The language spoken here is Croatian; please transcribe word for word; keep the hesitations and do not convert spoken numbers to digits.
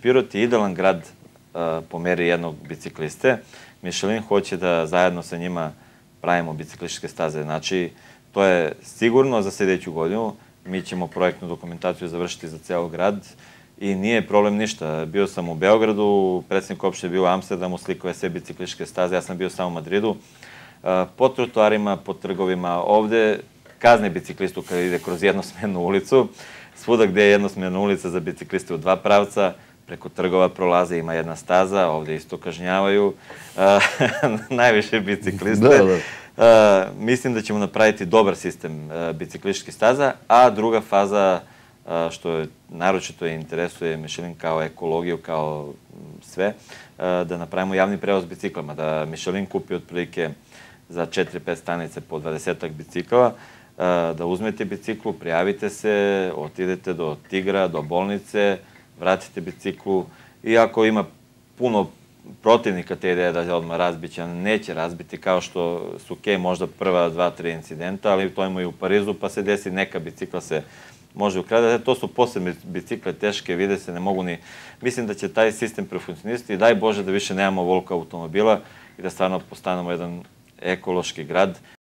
Pirot je idealan grad po meri jednog bicikliste. Michelin hoće da zajedno sa njima pravimo biciklističke staze. Znači, to je sigurno za sljedeću godinu. Mi ćemo projektnu dokumentaciju završiti za ceo grad i nije problem ništa. Bio sam u Beogradu, predsjednik opštine je bio u Amsterdamu, slikao je sve biciklističke staze, ja sam bio samo u Madridu. Po trotoarima, po trgovima, ovde kazne biciklistu kada ide kroz jednosmernu ulicu. Svuda gde je jednosmerna ulica za bicikliste u dva pravca, preko trgova prolaze, ima jedna staza, ovde isto kažnjavaju najviše bicikliste. Mislim da ćemo napraviti dobar sistem biciklističkih staza, a druga faza, što naročito interesuje Michelin kao ekologiju, kao sve, da napravimo javni prevoz biciklama, da Michelin kupi otprilike za četiri pet stanice po dvadesetak bicikla, da uzmete biciklu, prijavite se, otidete do Tigra, do bolnice, vratite biciklu i ako ima puno protivnika te ideje da je odmah razbiće, neće razbiti kao što su okej možda prva dva, tri incidenta, ali to ima i u Parizu, pa se desi neka bicikla se može ukradati. To su posebne bicikle, teške, vide se, ne mogu ni... Mislim da će taj sistem prefunkcionisati i daj Bože da više nemamo volka automobila i da stvarno postanemo jedan ekološki grad.